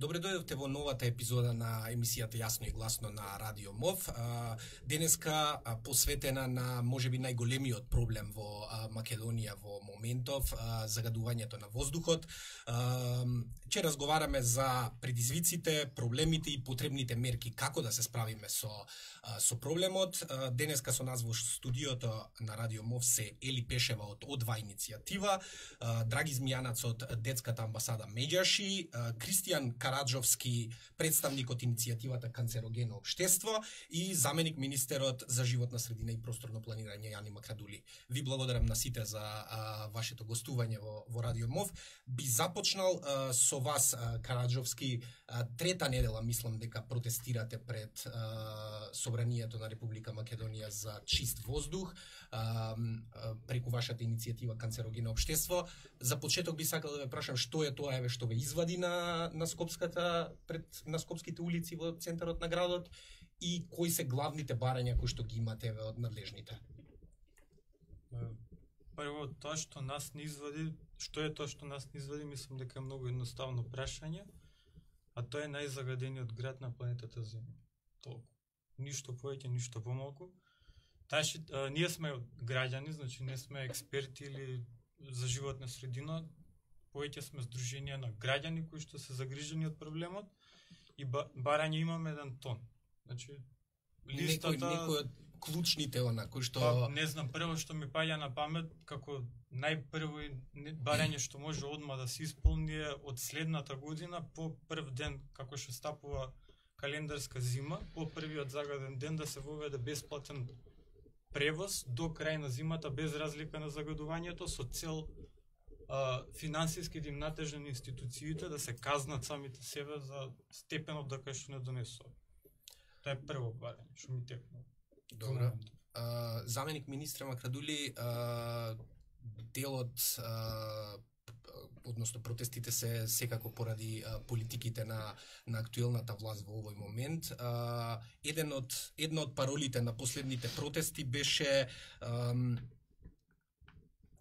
Добре дојдовте во новата епизода на емисијата Јасно и гласно на Радио МОВ. Денеска посветена на можеби најголемиот проблем во Македонија во моментов, загадувањето на воздухот. Ќе разговараме за предизвиците, проблемите и потребните мерки како да се справиме со проблемот. Денеска со нас во студиото на Радио МОВ се Ели Пешева од О2 иницијатива, Драги Змијанац од Детската амбасада Меѓаши, Кристијан Караджовски, представник од иницијативата Канцерогено општество и заменик министерот за животна средина и просторно планирање Јани Макрадули. Ви благодарам на сите за вашето гостување во Радио МОВ. Би започнал со вас, Караджовски. Трета недела мислам дека протестирате пред Собранието на Република Македонија за чист воздух преку вашата иницијатива Канцерогено општество. За почеток би сакал да ве прашам што е тоа што ве извади на скопските улици во центарот на градот и кои се главните барања кои што ги имате од надлежните? Прво, тоа што нас не извади, што е тоа што нас не извади, мислам дека е многу едноставно прашање, а тоа е најзагадениот град на планетата Земја. Толку. Ништо повеќе, ништо помалку. Ние сме граѓани, значи не сме експерти или за животна средина, повеќе сме здруженија на граѓани кои што се загрижени од проблемот и барање имаме 1 тон. Значи листата некој од клучните кои што не знам, прво што ми паѓа на памет како најпрво барање што може одма да се исполни е од следната година по прв ден како што стапува календарска зима, по првиот загаден ден да се воведе бесплатен превоз до крај на зимата без разлика на загадувањето со цел финансиски да им натежни на институциите да се казнат самите себе за степенот да кај што не донесува. Тоа е прво барање што ми текнува. Добро. Заменик министр Макрадули, делот односно протестите се секако поради политиките на актуелната власт во овој момент. Една од паролите на последните протести беше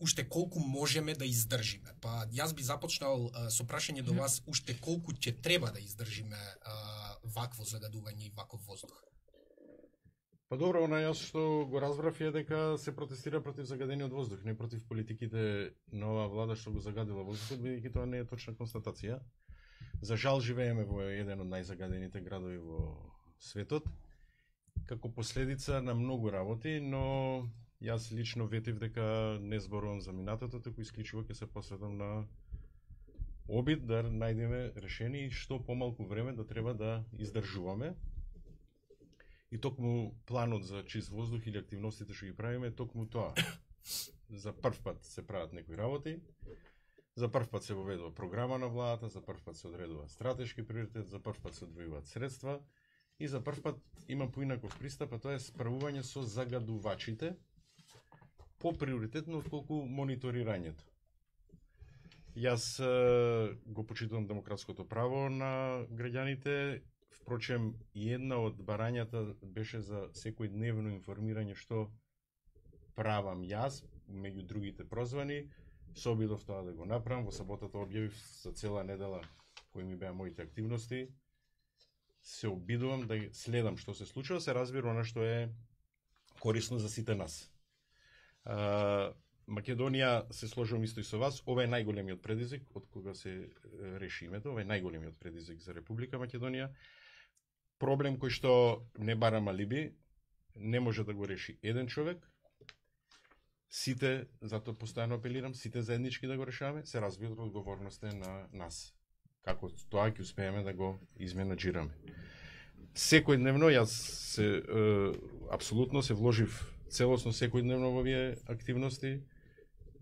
уште колку можеме да издржиме. Па јас би започнал со прашање до вас уште колку ќе треба да издржиме вакво загадување и ваков воздух. Па добро, јас што го разбрав е дека се протестира против загадениот воздух, не против политиките на оваа влада што го загадила воздухот, бидејќи тоа не е точна констатација. За жал живееме во еден од најзагадените градови во светот, како последица на многу работи, но јас лично ветив дека не зборувам за минатото, туку исклучиво ќе се посветам на обид да најдеме решение и што помалку време да треба да издржуваме. И токму планот за чист воздух или активностите што ги правиме, токму тоа. За прв пат се прават некои работи, за прв пат се воведува програма на владата, за прв пат се одредува стратешки приоритет, за прв пат се одвојуваат средства и за прв пат има поинаков пристап, а тоа е справување со загадувачите по-приоритетно отколку мониторирањето. Јас го почитувам демократското право на граѓаните. Впрочем, и една од барањата беше за секојдневно информирање што правам јас, меѓу другите прозвани. Се обидов тоа да го направам. Во саботата објавив за цела недела кои ми беа моите активности. Се обидувам да следам што се случува, се разбира она што е корисно за сите нас. Македонија, се сложувам исто и со вас, ова е најголемиот предизвик од кога се реши името, ова е најголемиот предизвик за Република Македонија. Проблем кој што не барам алиби, не може да го реши еден човек. Сите, затоа постојано апелирам, сите заеднички да го решаваме, се разбира одговорноста е на нас. Како тоа ќе успееме да го изменаџираме. Секојдневно јас се апсолутно се вложив целосно секојдневно во овие активности.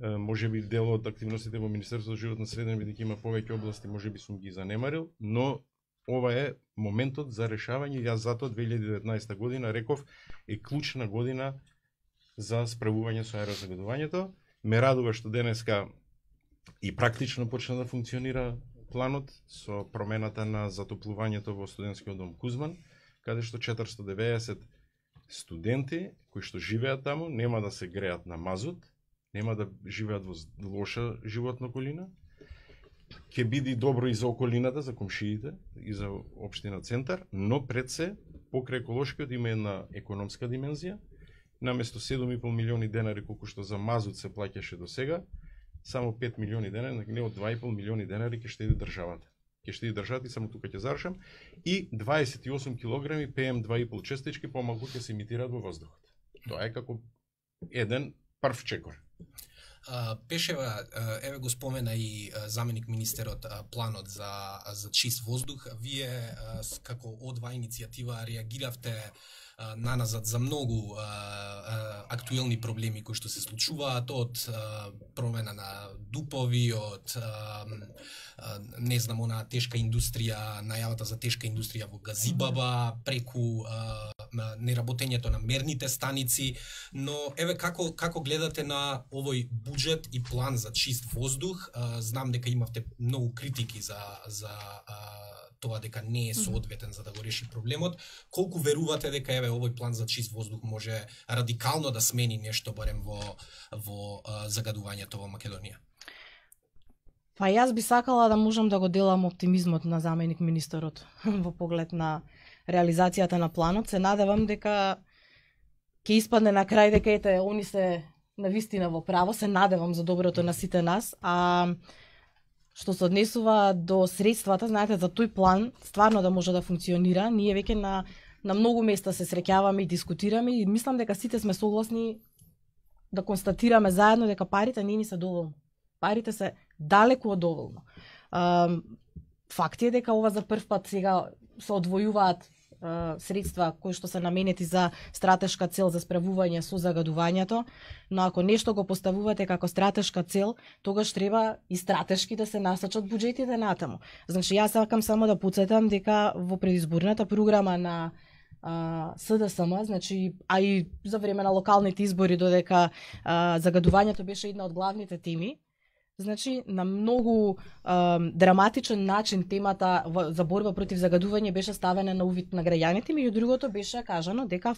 Можеби дел од активностите во Министерството за животна средина, бидејќи има повеќе области, можеби сум ги занемарил, но ова е моментот за решавање. Јас затоа 2019 година реков е клучна година за справување со аерозагадувањето. Ме радува што денеска и практично почна да функционира планот со промената на затоплувањето во студентскиот дом Кузман, каде што 490 студенти кои што живеат таму нема да се греат на мазут, нема да живеат во лоша животна околина ќе биде добро и за околината, за комшиите, и за општина Центар, но пред се, покрај еколошкиот има една економска димензија. Наместо 7,5 милиони денари колку што за мазут се плаќаше до сега, само 5 милиони денари, не од 2,5 милиони денари ќе штеди државата. Ќе штеди државата и само тука ќе завршам, и 28 килограми PM2,5 честички помалку ќе се емитираат во воздухот. Тоа е како еден прв чекор. Пешева, еве го спомена и заменик министерот планот за чист воздух. Вие како одва иницијатива реагиравте наназад за многу актуелни проблеми кои што се случуваат, од промена на дупови, од не знам, она тешка индустрија, најавата за тешка индустрија во Газибаба, преку неработењето на мерните станици, но еве како гледате на овој буџет и план за чист воздух? Знам дека имавте многу критики за тоа дека не е соодветен за да го реши проблемот. Колку верувате дека еве овој план за чист воздух може радикално да смени нешто барем во загадувањето во Македонија? Па јас би сакала да можам да го делам оптимизмот на заменик министерот во поглед на реализацијата на планот. Се надевам дека ќе испадне на крај дека ете они се навистина во право. Се надевам за доброто на сите нас. А што се однесува до средствата, знаете, за тој план стварно да може да функционира, ние веќе на многу места се среќаваме и дискутираме и мислам дека сите сме согласни да констатираме заедно дека парите не ни се доволно. Парите се далеку од доволно. Факт е дека ова за прв пат сега се одвојуваат средства кои што се наменети за стратешка цел за справување со загадувањето, но ако нешто го поставувате како стратешка цел, тогаш треба и стратешки да се насочат буџетите натаму. Значи јас сакам само да потсетам дека во предизборната програма на СДСМ, значи, а и за време на локалните избори додека загадувањето беше една од главните теми, значи, на многу драматичен начин темата за борба против загадување беше ставена на увид на граѓаните, меѓу другото беше кажано дека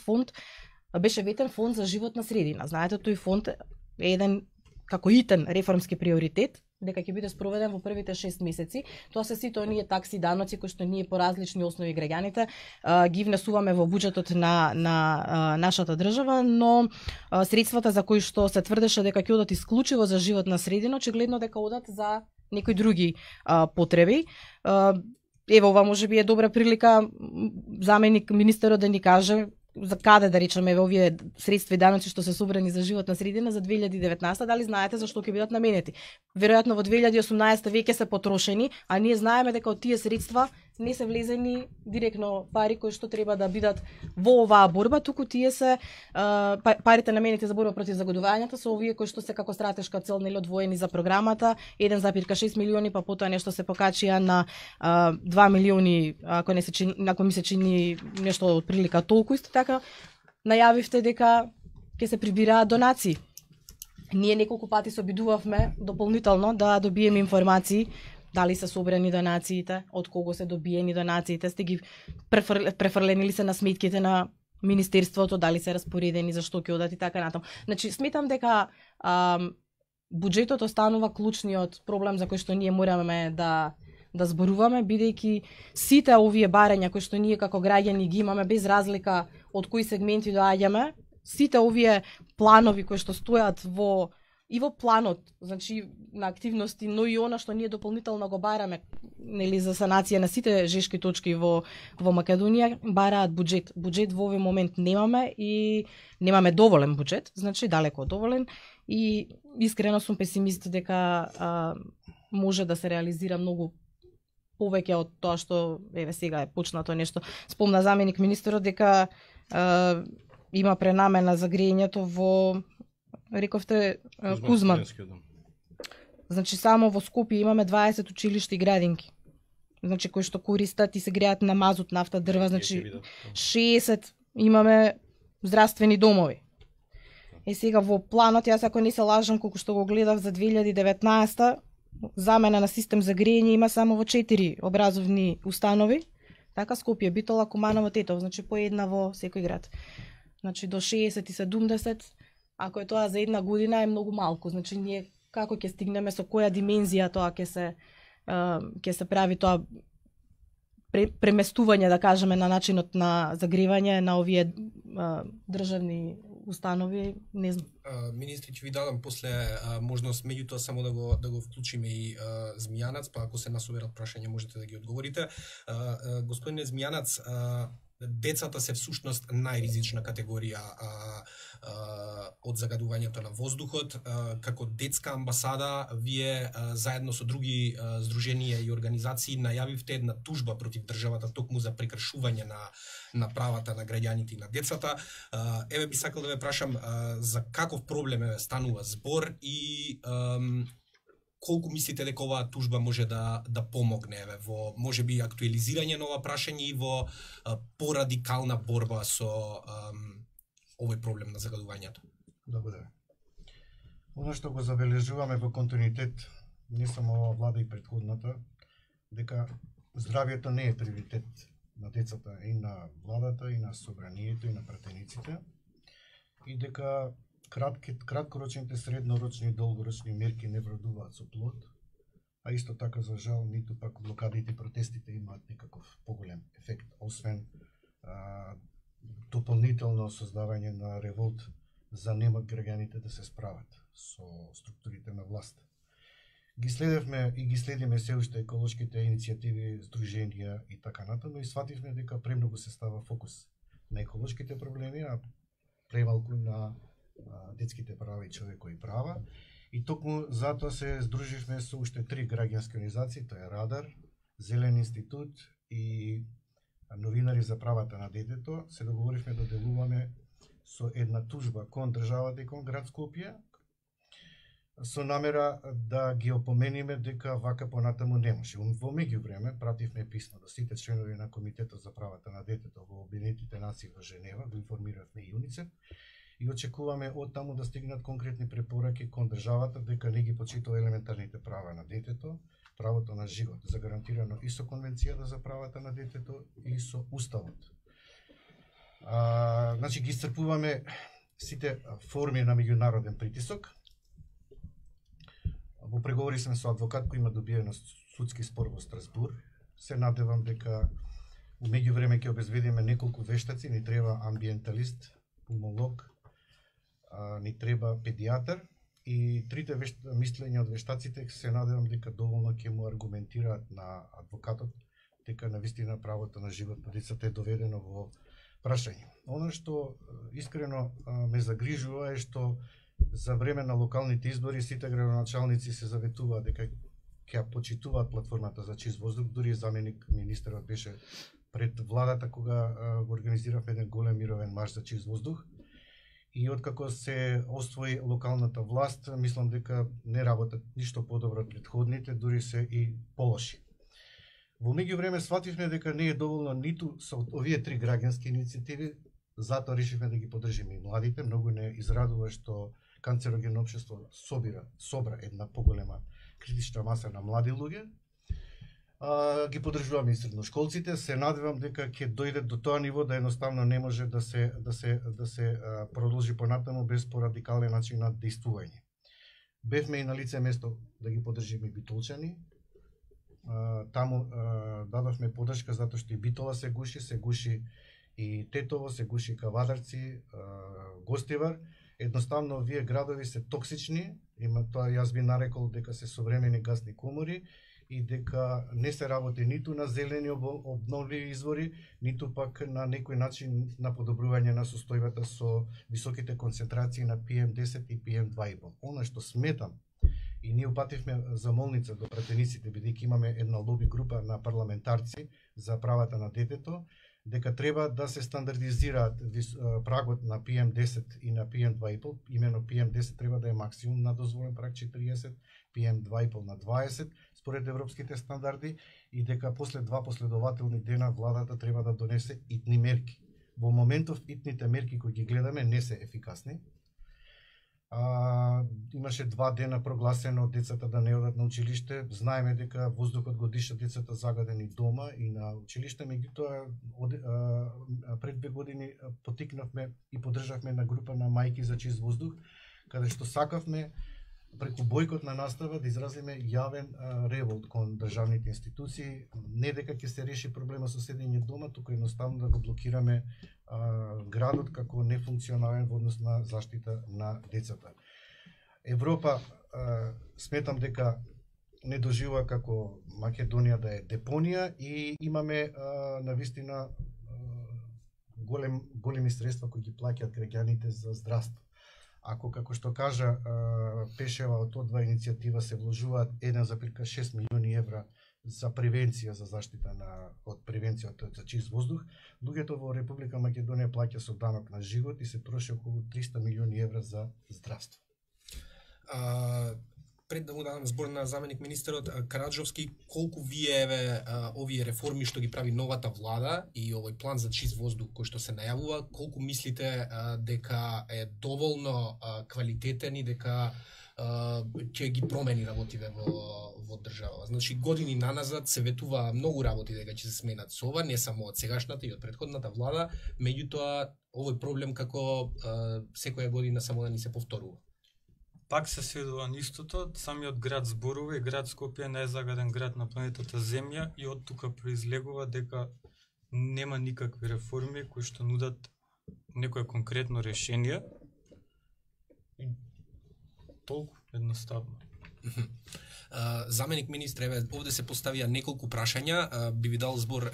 беше ветен фонд за животна средина. Знаете, тој фонд е еден како итен реформски приоритет, дека ќе биде спроведен во првите 6 месеци. Тоа се сите оние такси, даноци кои што ние по различни основи граѓаните ги внесуваме во буџетот на нашата држава, но средствата за кои што се тврдеше дека ќе одат исклучиво за животна средина, очигледно дека одат за некои други потреби. Ево, ова можеби е добра прилика заменик министерот да ни каже за каде, да речеме, овие средства и даноци што се собрани за животна средина за 2019, дали знаете за што ќе бидат наменети? Веројатно во 2018 веќе се потрошени, а ние знаеме дека од тие средства не се влезени директно пари кои што треба да бидат во оваа борба, туку тие се парите наменети за борба против загадувањето се овие кои што се како стратешка цел нели одвоени за програмата, 1,6 милиони, па потоа нешто се покачија на 2 милиони, ако ми се чини нешто од прилика толку. Исто така најавивте дека ќе се прибираат донации. Ние неколку пати се обидувавме дополнително да добиеме информации дали се собрани донациите, од кого се добиени донациите, сте ги префрлени ли се на сметките на министерството, дали се распоредени, за што ќе одат и така натаму. Значи, сметам дека буџетот останува клучниот проблем за кој што ние мораме да зборуваме, бидејќи сите овие барања кои што ние како граѓани ги имаме, без разлика од кои сегменти доаѓаме, сите овие планови кои што стојат во планот, значи на активности, но и она што ние дополнително го бараме, нели, за санација на сите жешки точки во Македонија, бараат буџет. Буџет во овој момент немаме и немаме доволен буџет, значи далеко доволен, и искрено сум песимист дека може да се реализира многу повеќе од тоа што еве сега е почнато нешто. Спомна заменик министерот дека има пренамена за грејењето во, рековте, Кузман. Значи само во Скопје имаме 20 училишта и градинки. Значи кои што користат и се греат на мазут, нафта, дрва, значи 60 имаме здравствени домови. И сега во планот, јас ако не се лажам, колку што го гледав за 2019, замена на систем за грејење има само во 4 образовни установи. Така Скопје, Битола, Куманово, Тетово, значи по една во секој град. Значи до 60 и 70, ако е тоа за една година, е многу малку. Значи ние како ќе стигнеме, со која димензија тоа ќе ќе се прави тоа преместување, да кажеме, на начинот на загревање на овие државни установи, не знам. Министри, ќе ви дадам после можност, меѓутоа само да го вклучиме и Змијанац, па ако се насоберат прашања можете да ги одговорите. Господине Змијанац, децата се всушност најризична категорија од загадувањето на воздухот. Како детска амбасада, вие заедно со други здруженија и организации најавивте една тужба против државата токму за прекршување на правата на граѓаните и на децата. Еве би сакал да ве прашам за каков проблем станува збор и колку мислите дека оваа тужба може да помогне во можеби актуализирање на ова прашање и во порадикална борба со овој проблем на загадувањето? Благодарам. Оно што го забележуваме во континуитет, не само ова влада и претходната, дека здравјето не е приоритет на децата и на владата, и на собранието, и на пратениците, и дека краткорочните, среднорочни и долгорочни мерки не вредуваат со плод, а исто така, за жал, ниту пак блокадите и протестите имаат некаков поголем ефект, освен дополнително создавање на револт за немат граѓаните да се справат со структурите на власт. Ги следевме и ги следиме се уште еколошките иницијативи, здруженија и така натаму и свативме дека премногу се става фокус на еколошките проблеми, а премалку на детските права и човекови права. И токму затоа се здруживме со уште 3 граѓански организации, тоа е Радар, Зелен институт и Новинари за правата на детето. Се договоривме да делуваме со една тужба кон државата и кон град Скопје, со намера да ги опомениме дека вака понатаму не може. Во меѓувреме пративме писмо до сите членови на Комитетот за правата на детето во Обединетите нации во Женева, го информиравме и УНИЦЕФ, и очекуваме од таму да стигнат конкретни препораки кон државата дека не ги почитува елементарните права на детето, правото на живот, загарантирано и со Конвенцијата за правата на детето и со Уставот. Значи ги исцрпуваме сите форми на меѓународен притисок. Во преговори сме со адвокат кој има добиено судски спор во Страсбур. Се надевам дека у меѓувреме ќе обезбедиме неколку вештаци, ни треба амбиенталист, пулмолог, ни треба педијатар и трите мислења од вештаците се надевам дека доволно ќе му аргументираат на адвокатот дека навистина правото на живот на децата е доведено во прашање. Оно што искрено ме загрижува е што за време на локалните избори сите градоначалници се заветуваат дека ќе почитуваат платформата за чист воздух, дури заменик министерот беше пред владата кога го организиравме еден голем мировен марш за чист воздух. И откако се освои локалната власт, мислам дека не работат ништо подобро од претходните, дури се и полоши. Во меѓувреме свативме дека не е доволно ниту со овие 3 граѓански иницијативи, затоа решивме да ги поддржиме и младите. Многу не израдува што канцерогенно општество собра една поголема критична маса на млади луѓе. Ги поддржуваме и средношколците. Се надевам дека ќе дојде до тоа ниво да едноставно не може да се продолжи понатаму без порадикален начин на действување. Бевме и на лице место да ги поддржиме Битолчани. Таму дадовме поддршка затоа што и Битола се гуши и Тетово, се гуши Кавадарци, Гостивар. Едноставно овие градови се токсични, има тоа јас би нарекол дека се современи гасни комори и дека не се работи ниту на зелени обновливи извори, ниту пак на некој начин на подобрување на состојбата со високите концентрации на PM10 и PM2,5. Она што сметам, и ние упативме замолница до пратениците, бидејќи имаме една лоби група на парламентарци за правата на детето, дека треба да се стандардизираат прагот на PM10 и на PM2,5, имено PM10 треба да е максимум на дозволен праг 40, PM2,5 на 20, според европските стандарди, и дека после 2 последователни дена владата треба да донесе итни мерки. Во моментов итните мерки кои ги гледаме не се ефикасни. Имаше 2 дена прогласено децата да не одат на училиште. Знаеме дека воздухот го дишат децата загадени дома и на училиште, меѓутоа пред 2 години потикнавме и поддржавме на група на мајки за чист воздух, каде што сакавме преку бойкотна настава да изразиме јавен револт кон државните институции, не дека ќе се реши проблема со седење дома, туку едноставно да го блокираме градот како нефункционален во однос на заштита на децата. Европа сметам дека не доживува како Македонија да е депонија и имаме навистина големи средства кои ги плаќаат граѓаните за здравство. Ако, како што кажа Пешева, од одва иницијатива се вложуваат 1,6 милиони евра за превенција, за заштита од превенција од чист воздух, луѓето во Република Македонија плаќа со данок на живот и се троши околу 300 милиони евра за здравство. Пред да му дадам збор на заменик министерот Караджовски, колку вие овие реформи што ги прави новата влада и овој план за чист воздух кој што се најавува, колку мислите дека е доволно квалитетен и дека ќе ги промени работите во држава? Значи години наназад се ветува многу работи дека ќе се сменат со ова, не само од сегашната и од претходната влада, меѓутоа овој проблем како секоја година само да ни се повторува. Пак се сведува на истото, самиот град зборува и град Скопје е најзагаден град на планетата Земја и од тука произлегува дека нема никакви реформи кои што нудат некое конкретно решение. И толку едноставно. Заменик министре, овде се поставија неколку прашања, би ви дал збор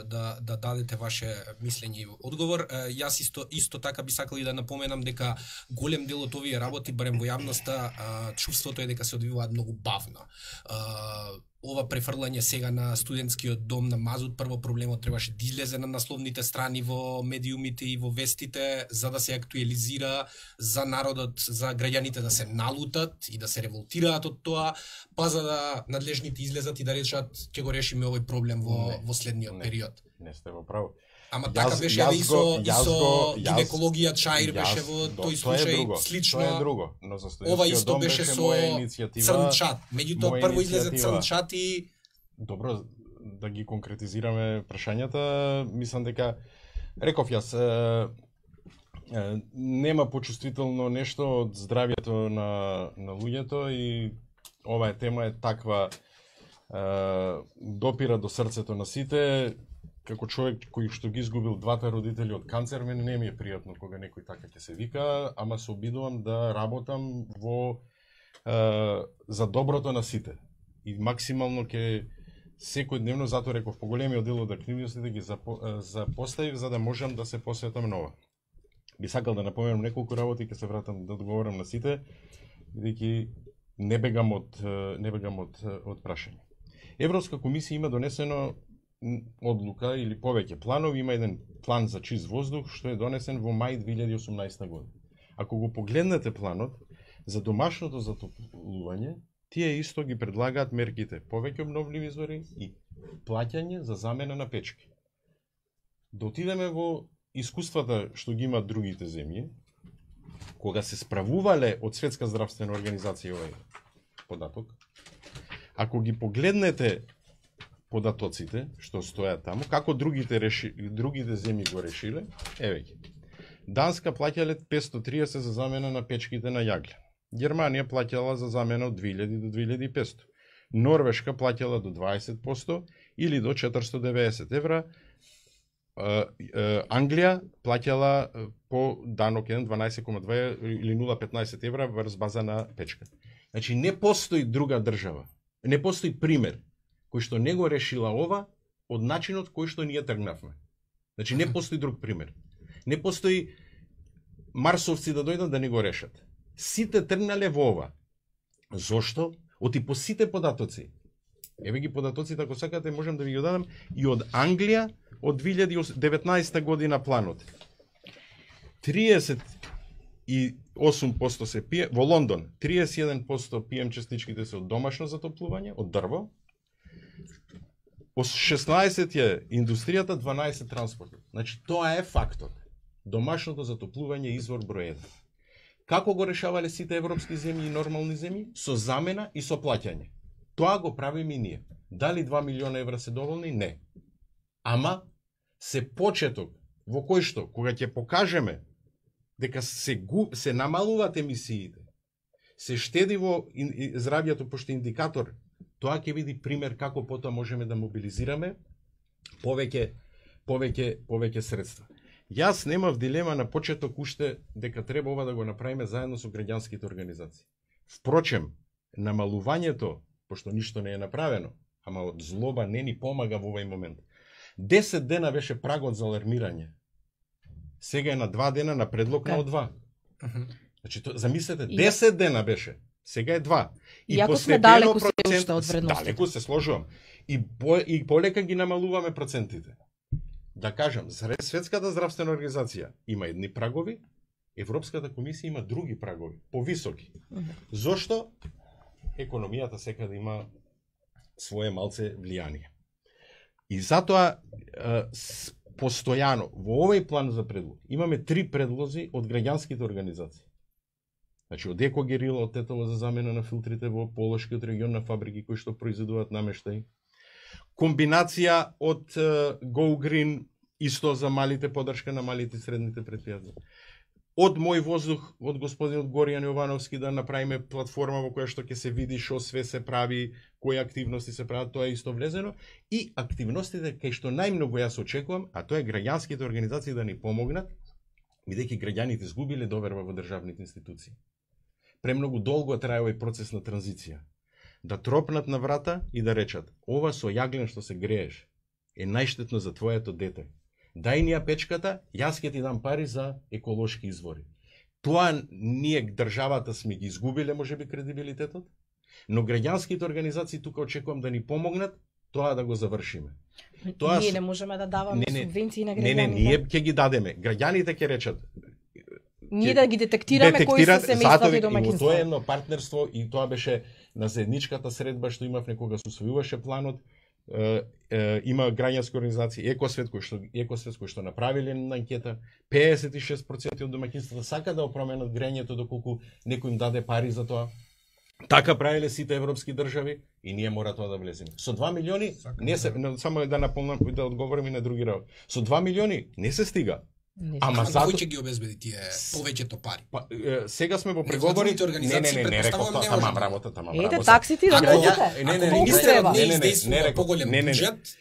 да дадете ваше мислење и одговор. Јас исто така би сакал и да напоменам дека голем дел од овие работи, барем во јавноста, чувството е дека се одвиваат многу бавно. Ова префрлање сега на студентскиот дом на Мазут, прво проблемот требаше да излезе на насловните страни во медиумите и во вестите, за да се актуализира за народот, за граѓаните да се налутат и да се револтираат од тоа, па за да надлежните излезат и да речат ќе го решиме овој проблем во следниот период. Не сте во право. Ама така беше и со гинекологија Чаир беше во тој случај слично. Тоа е друго, но за ова студентскиот исто дом беше со Црнчат. Меѓутоа прво излезе Црнчат и добро да ги конкретизираме прашањата, мислам дека реков јас нема почувствително нешто од здравјето на луѓето и оваа тема е таква, допира до срцето на сите. Како човек кој што ги изгубил двата родители од канцер, мене не ми е пријатно кога некој така ќе се вика, ама се обидувам да работам за доброто на сите. И максимално ќе секојдневно, затоа реков, поголемиот дел од активностите ги запоставив за да можам да се посветам на ова. Би сакал да напоменам неколку работи, ќе се вратам да одговорам на сите, бидејќи не бегам од прашање. Европска комисија има донесено одлука или повеќе планови, има еден план за чист воздух што е донесен во мај 2018 година. Ако го погледнете планот за домашното затоплување, тие исто ги предлагаат мерките повеќе обновливи извори и плаќање за замена на печки. Да отидеме во искуствата што ги имаат другите земји, кога се справувале од Светска здравствена организација овој податок, ако ги погледнете податоците што стојат таму, како другите земји го решиле, еве ги. Данска плаќале 530 за замена на печките на јагле. Германија плаќала за замена од 2000 до 2500. Норвешка плаќала до 20% или до 490 евра. Англија плаќала по данок 12,2 или 0,15 евра врз база на печка. Значи не постои друга држава, не постои пример кој што не го решила ова од начинот кој што ние тргнавме. Значи не постои друг пример. Не постои марсовци да дојдат да не го решат. Сите тргнале во ова. Зошто? Оти по сите податоци. Еве ги податоците, ако сакате, можам да ви ги дадам и од Англија од 2019 година планот. 38% се пие, во Лондон 31% пием частичките се од домашно затоплување, од дрво. 16 е индустријата, 12 транспортот. Значи тоа е фактот. Домашното затоплување е извор број 1. Како го решавале сите европски земји и нормални земји? Со замена и со плаќање. Тоа го правиме и ние. Дали 2 милиона евра се доволни? Не. Ама се почеток во кој што, кога ќе покажеме дека се намалуваат емисиите, се штеди во здравјето, пошто индикатор, тоа ќе биде пример како потоа можеме да мобилизираме повеќе средства. Јас немав дилема на почеток уште дека треба ова да го направиме заедно со граѓанските организации. Впрочем, намалувањето, пошто ништо не е направено, ама од злоба не ни помага во овој момент. 10 дена беше прагот за алармирање. Сега е на 2 дена на предлог на од 2. Значи, замислете, 10 дена беше. Сега е 2. Иако сме далеку се уште од вредностите. Далеку се сложувам. И полека ги намалуваме процентите. Да кажам, Светската здравствена организација има едни прагови, Европската комисија има други прагови, повисоки. Зошто? Економијата секаде има свое малце влијание. И затоа постојано во овој план за предлог имаме 3 предлози од граѓанските организации. Значи од Екогерила, од Тетово за замена на филтрите во Полошкиот регион на фабрики кои што произведуваат намештај. Комбинација од Go Green, исто за малите, поддршка на малите и средните предпријатија. Од Мој воздух, од господинот Горијан Јовановски, да направиме платформа во која што ќе се види што све се прави, кои активности се прават, тоа е исто влезено. И активностите кај што најмногу јас очекувам, а тоа е граѓанските организации да ни помогнат, бидејќи граѓаните изгубиле доверба во државните институции. Премногу долго трае овој процес на транзиција. Да тропнат на врата и да речат: ова со јаглен што се грееш е најштетно за твоето дете. Дај ни ја печката, јас ќе ти дам пари за еколошки извори. Тоа ние државата сме ги изгубиле можеби кредибилитетот, но граѓанските организации тука очекувам да ни помогнат тоа да го завршиме. Тоа ние не можеме да даваме субвенции на граѓаните. Не, ние ќе ги дадеме. Граѓаните ќе речат: ние да ги детектираме кои се семејствата и домаќинства. Тоа е едно партнерство и тоа беше на заедничката средба што имавме кога се усвојуваше планот. Има граѓански организации Екосвет кои што направиле на анкета, 56% од домаќинствата сака да променат грењето доколку некој им даде пари за тоа. Така правиле сите европски држави и ние мора тоа да влеземе. Со 2 милиони не се, само да наполнам и да одговорам и на други работи. Со 2 милиони не се стига. Ама кој ќе ги обезбеди тие повеќето пари? Сега сме во преговори. Не реков тоа, тамам работата, Ете таксите да можете. Не реков поголем буџет.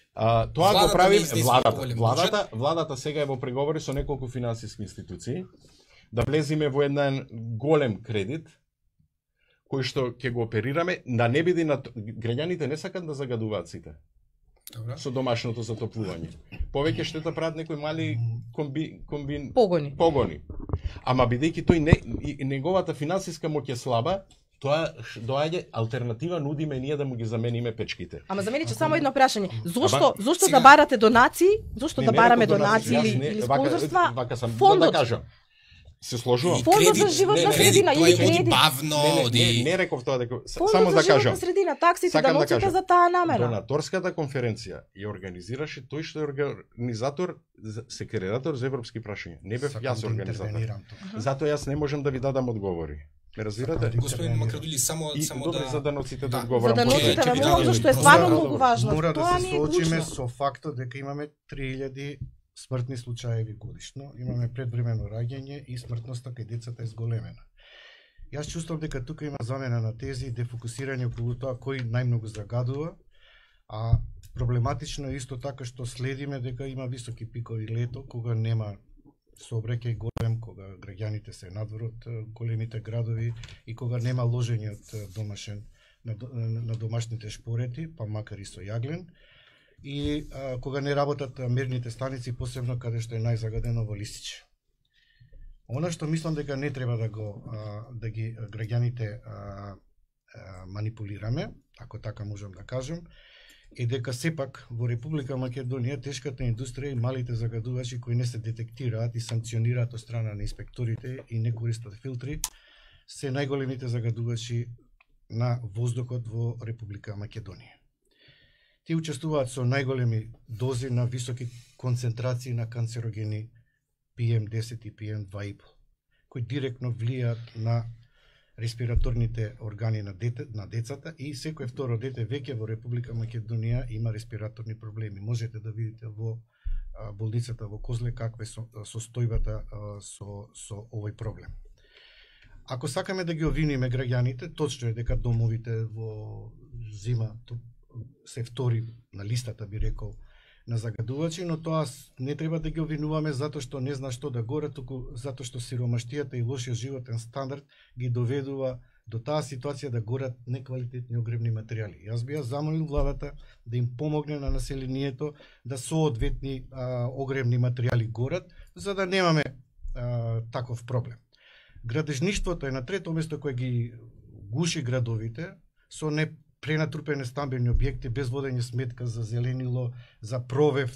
Тоа го прави владата. Владата сега е во преговори со неколку финансиски институции да влеземе во еден голем кредит кој што ќе го оперираме, да не биде на граѓаните не сакат да загадуваат сите. Добре. Со домашното затоплување. Повеќе штета прават некои мали погони. Ама бидејќи тој неговата финансиска моќ е слаба, тоа доаѓа алтернатива, нудиме ние да му ги замениме печките. Ама замениче само едно прашање. Зошто да барате донации? Зошто да бараме донации или спонзорства? Фондот да кажам. Се сложувам. Фондот за животна средина или кредит. Не реков тоа дека само да кажам. Фондот за животна средина, таксите да носите за таа намера. Донаторската конференција ја организираше тој што е организатор, секретар за европски прашања. Не бев јас организатор. Затоа јас не можам да ви дадам одговори. Ме разбирате? Господин Макрадули, само да за даноците да одговорам. За даноците да молам зашто е стварно многу важно. Мора да се соочиме со фактот дека имаме 3000 смртни случаеви годишно, имаме предвремено раѓање и смртноста кај децата е зголемена. Јас чувствувам дека тука има замена на тези и дефокусирање околу тоа кој најмногу загадува, а проблематично е исто така што следиме дека има високи пикови лето, кога нема сообраќај голем, кога граѓаните се надвор од големите градови и кога нема ложење од домашен на домашните шпорети, па макар и со јаглен. И кога не работат мерните станици, посебно каде што е најзагадено во Лисиче. Она што мислам дека не треба да ги граѓаните манипулираме, ако така можам да кажам, е дека сепак во Република Македонија тешката индустрија и малите загадувачи кои не се детектираат и санкционираат од страна на инспекторите и не користат филтри, се најголемите загадувачи на воздухот во Република Македонија. Тие учествуваат со најголеми дози на високи концентрации на канцерогени PM10 и PM2,5, кои директно влијаат на респираторните органи на децата и секој второ дете веќе во Република Македонија има респираторни проблеми. Можете да видите во болницата во Козле каква е состојбата со овој проблем. Ако сакаме да ги обвиниме граѓаните, точно е дека домовите во зима се втори на листата, би рекол, на загадувачи, но тоа не треба да ги обвинуваме затоа што не зна што да горе, туку затоа што сиромаштијата и лошиот животен стандард ги доведува до таа ситуација да горат неквалитетни огревни материјали. Јас би ја замолил владата да им помогне на населението да соодветни огревни материјали горат, за да немаме таков проблем. Градежништвото е на трето место кое ги гуши градовите со пренатрупени стамбени објекти без водење сметка за зеленило, за провев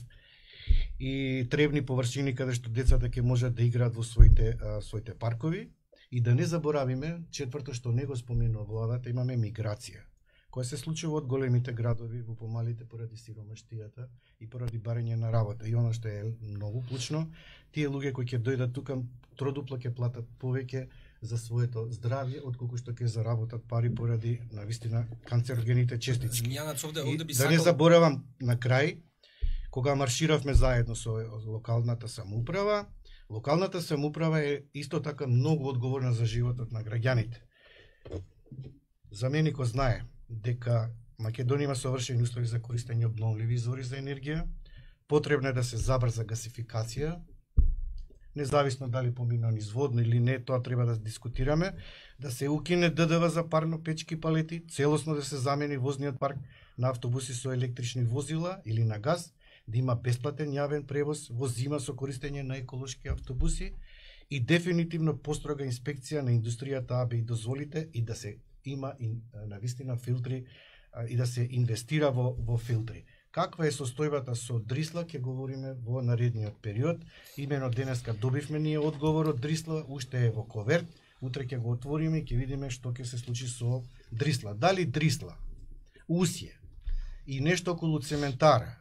и требни површини каде што децата ќе можат да играат во своите паркови. И да не заборавиме, четврто што не го споменува владата, имаме миграција, која се случува од големите градови во помалите поради сиромаштијата и поради барање на работа. И оно што е многу клучно, тие луѓе кои ќе дојдат тука тродупло ќе платат повеќе за своето здравје, отколку што ќе заработат пари поради навистина канцерогените честички. Да не заборавам на крај, кога марширавме заедно со локалната самоуправа, локалната самоуправа е исто така многу одговорна за животот на граѓаните. За мене ko знае дека Македонија има совршени услови за користење обновливи извори за енергија, потребно е да се забрза гасификација, независно дали помина низ водно или не, тоа треба да дискутираме, да се укине ДДВ за парно-печки палети, целосно да се замени возниот парк на автобуси со електрични возила или на газ, да има бесплатен јавен превоз во зима со користење на еколошки автобуси и дефинитивно построга инспекција на индустријата АБ и дозволите и да се има навистина филтри и да се инвестира во филтри. Каква е состојбата со Дрисла, ќе говориме во наредниот период. Имено денеска добивме ние одговор од Дрисла, уште е во коверт, утре ќе го отвориме и ќе видиме што ќе се случи со Дрисла. Дали Дрисла, Усје и нешто околу цементара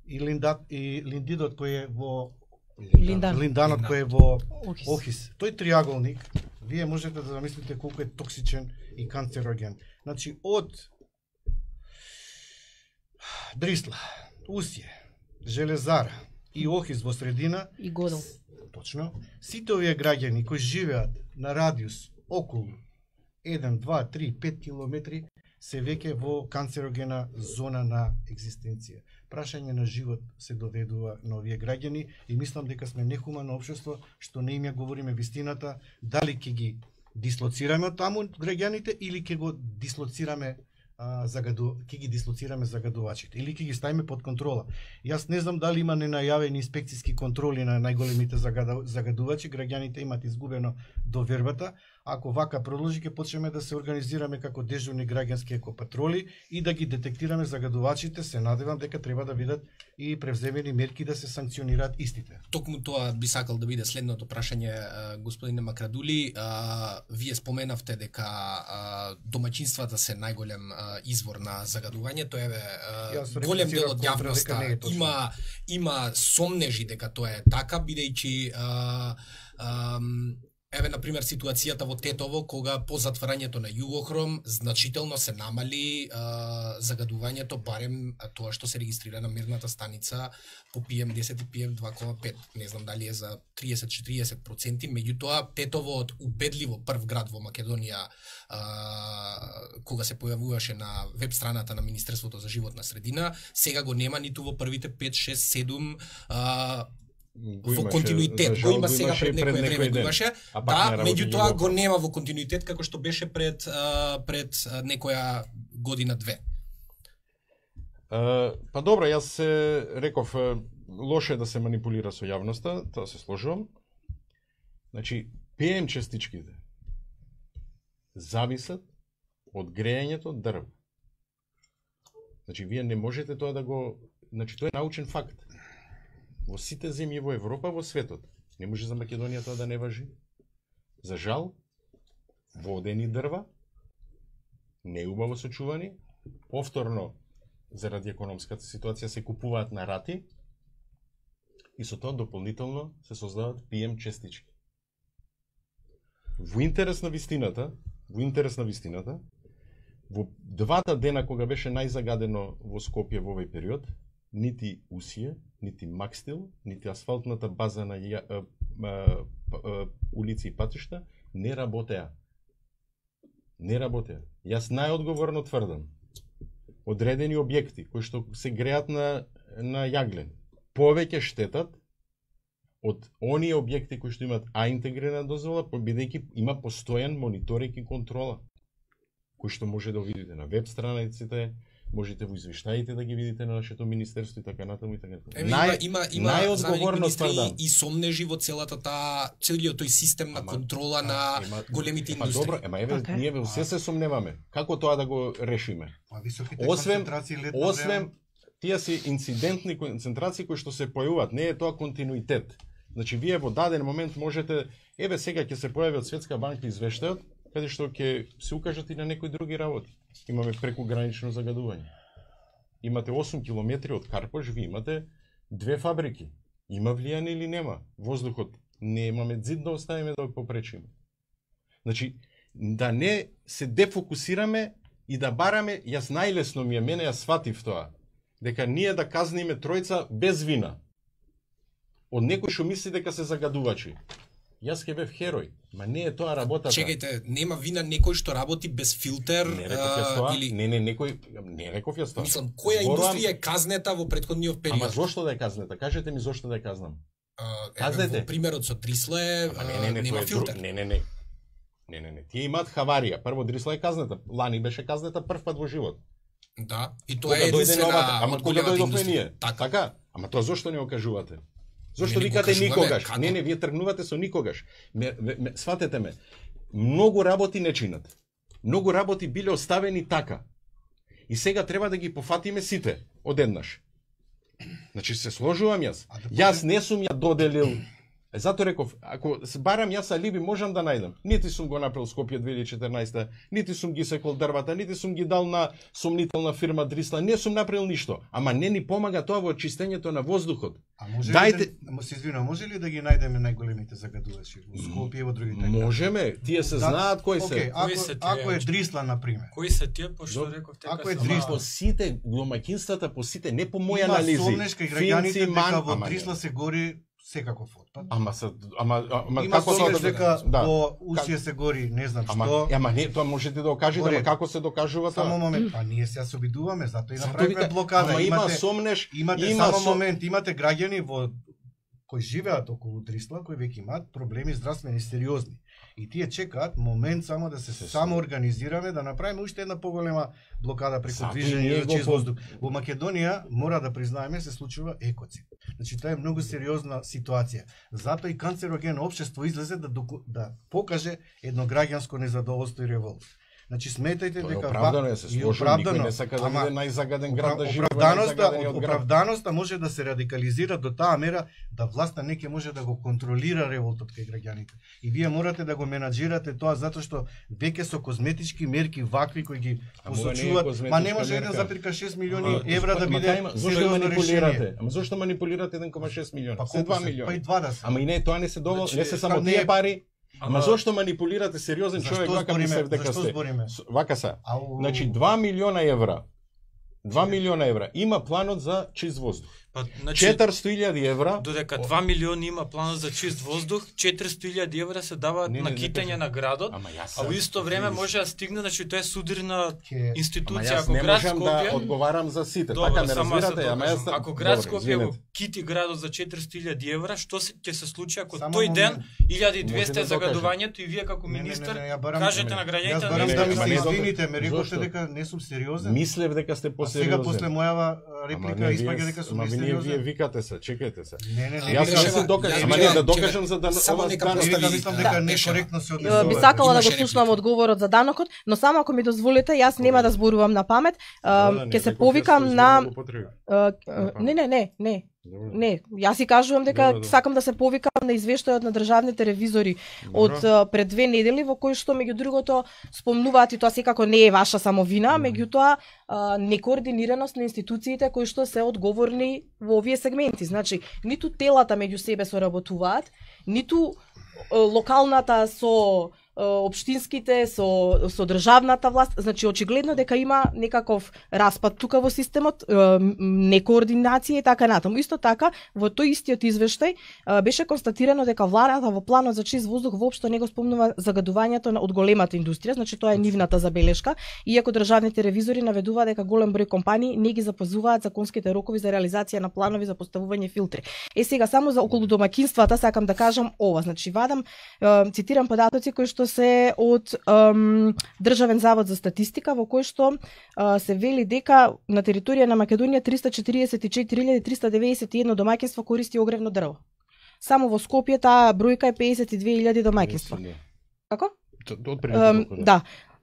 и линдидот кој е во линданот кој е во Охис. Тој триаголник, вие можете да замислите колку е токсичен и канцероген. Значи од Дрисла, Усје, Железара и Охис во средина и Годел. Точно. Сите овие граѓани кои живеат на радиус околу 1, 2, 3, 5 километри се веќе во канцерогена зона на екзистенција. Прашање на живот се доведува на овие граѓани и мислам дека сме нехумано општество што не им ја говориме вистината, дали ќе ги дислоцираме од таму граѓаните или ќе го дислоцираме ќе ги дислоцираме загадувачите или ќе ги ставиме под контрола. Јас не знам дали има ненајавени инспекциски контроли на најголемите загадувачи, граѓаните имат изгубено довербата. Ако вака продолжи, ќе почнеме да се организираме како дежурни граѓански екопатроли и да ги детектираме загадувачите. Се надевам дека треба да бидат и превземени мерки да се санкционираат истите. Токму тоа би сакал да биде следното прашање, господине Макрадули. Вие споменавте дека домаќинствата се најголем извор на загадување. Тоа е голем дел од јавноста има сомнежи дека тоа е така, бидејќи еве, например, ситуацијата во Тетово, кога по затварањето на Југохром значително се намали загадувањето, барем тоа што се регистрира на мерната станица по PM10 и PM2,5. Не знам дали е за 30-40%, меѓутоа Тетово од убедливо прв град во Македонија, кога се појавуваше на веб страната на Министерството за животна средина, сега го нема ниту во првите 5, 6, 7 во континуитет. Го има сега пред некој време го имаше, да, меѓутоа го нема во континуитет како што беше пред некоја година-две. Па добро, јас се реков, лошо е да се манипулира со јавноста, тоа се сложувам. Значи, ПМ частичките зависат од грејањето дрво. Значи, вие не можете тоа да го... Значи, тоа е научен факт. Во сите земји во Европа, во светот. Не може за Македонија тоа да не важи. За жал, водени дрва, неубаво сочувани, повторно, заради економската ситуација, се купуваат на рати и со тоа дополнително се создаваат PM честички. Во интерес на вистината, во двата дена кога беше најзагадено во Скопје во овој период, нити Усие, нити Макстил, нити асфалтната база на улици и патишта не работеа. Не работеа. Јас најодговорно тврдам. Одредени објекти кои што се греат на јаглен повеќе штетат од оние објекти кои што имаат А интегрирана дозвола, бидејќи има постојан мониторинг и контрола, кои што може да видите на веб страниците, можете во извештаите да ги видите на нашето министерство и така натаму и така натаму. Има и сомнежи во целиот тој систем на контрола на големите индустрии. Добро, еве ние во се сомневаме. Како тоа да го решиме? Освен тие се инцидентни концентрации кои што се појавуваат, не е тоа континуитет. Значи вие во даден момент можете, еве сега ќе се појави од Светска банка извештајот, каде што ќе се укажат и на некои други работи. Имаме прекогранично загадување. Имате 8 километри од Карпош, ви имате 2 фабрики. Има влијание или нема? Воздухот не имаме зид да оставиме да го попречиме. Значи, да не се дефокусираме и да бараме, јас најлесно ми е, мене ја сватив тоа, дека ние да казниме тројца без вина. Од некој што мисли дека се загадувачи. Јас ке бев херој, ма не е тоа работата. Чекајте, нема вина некој што работи без филтер не реков јас тоа, или не реков јас тоа. Мислам, која индустрија е казнета во претходниот период? Ама зошто да е казнета? Кажете ми зошто да е казнам. Казнете. Во примерот со Дрисле нема филтер. Не. Тие имаат хаварија. Прво Дрисла е казнета. Лани беше казнета прв пат во живот. Да, и тоа е единствена. Ама кога дојдовме ние? Така? Ама тоа зошто не го кажувате? Зошто викате никогаш? Не, вие тргнувате со никогаш. Сватете ме. Многу работи не чинат. Многу работи биле оставени така. И сега треба да ги пофатиме сите одеднаш. Значи се сложувам јас. Јас не сум ја доделил. Зато реков, ако барам јас алиби можам да најдам. Нити сум го направил Скопје 2014, нити сум ги секол дрвата, нити сум ги дал на сомнителна фирма Дрисла, не сум направил ништо. Ама не ни помага тоа во очистењето на воздухот. Може ли да ги најдеме најголемите загадувачи во Скопје и во другите? Можеме, тие се знаат кои се. Ако е Дрисла на пример. Кои се тие, пошто реков ако е Дрисла, по сите домаќинствата, по сите, не по моја анализи. Има сомнешка и граѓаните дека во Дрисла се гори секаков отпад. Ама како тоа дека во Усија се гори, не знам што. Ама не, тоа можете да го кажете, ама како се докажува тоа? Само момент, па ние се обидуваме, затоа и направивме блокада. Ама има сомнеш, само момент, имате граѓани во кои живеат околу Дрисла, кои веќе имаат проблеми здравствени сериозни. И тие чекаат момент само да се самоорганизираме, да направиме уште една поголема блокада преку движење за чист воздух. Во Македонија, мора да признаеме, се случува екоцид. Значи, тоа е многу сериозна ситуација. Затоа и канцерогено општество излезе да покаже едно граѓанско незадоволство и револт. Значи сметајте дека оправдано е, се сложи, никој не сака да биде најзагаден град да живее. Оправданоста може да се радикализира до таа мера да власта не ќе може да го контролира револтот кај граѓаните. И вие морате да го менаџирате тоа затоа што веќе со козметички мерки вакви кои ги посочуваат, ма не може 1,6 милиони евра да биде сериозно решение. Ама зошто манипулирате 1,6 милиони? Се 2 милиони. Па и 20. Ама и не тоа не се доволно, не се само тие пари. Ама зошто манипулирате сериозен човек вака мислев дека сте? Вака са. Значи 2 милиона евра. 2 милиона евра. Има планот за чист воздух. 400.000 евра. Додека 2 милиони има планот за чист воздух, 400.000 евра се даваат на китање на градот, а во исто време може да стигне, значи тоа е судрина институција. Ако град Скопје, да одговарам за сите. Така не разбирате, ама јас ако град Скопје го кити градот за 400.000 евра, што ќе се случи ако тој ден 1200 загадувањето и вие како министер кажете на граѓаните да ми се извините, ме рековте дека не сум сериозен. Мислев дека сте посериозен. Сега после мојава реплика испаѓа дека сум вие викате се, чекајте се. Јас се докажам, ама не да докажам за да ова мислам дека некоректно се однесува. Би сакала да го слушнам одговорот за данокот, но само ако ми дозволите, јас нема да зборувам на памет, ќе се повикам на Не, јас си кажувам дека сакам да се повикам на извештајот на државните ревизори од пред 2 недели во кој што меѓу другото спомнуваат и тоа секако не е ваша само вина, меѓутоа некоординираност на институциите кои што се одговорни во овие сегменти. Значи, ниту телата меѓу себе соработуваат, ниту локалната со општинските, со државната власт, значи очигледно дека има некаков распад тука во системот, некоординација и така натаму. Исто така, во тој истиот извештај беше констатирано дека владата во планот за чист воздух воопшто не го спомнува загадувањето од големата индустрија, значи тоа е нивната забелешка, иако државните ревизори наведуваат дека голем број компании не ги запазуваат законските рокови за реализација на планови за поставување филтри. Сега само за околу домаќинствата сакам да кажам ова, значи вадам, цитирам податоци кои што се од Државен завод за статистика, во кој што се вели дека на територија на Македонија 344.391 домаќинства користи огревно дрво. Само во Скопје таа бројка е 52.000 домаќинства. Како?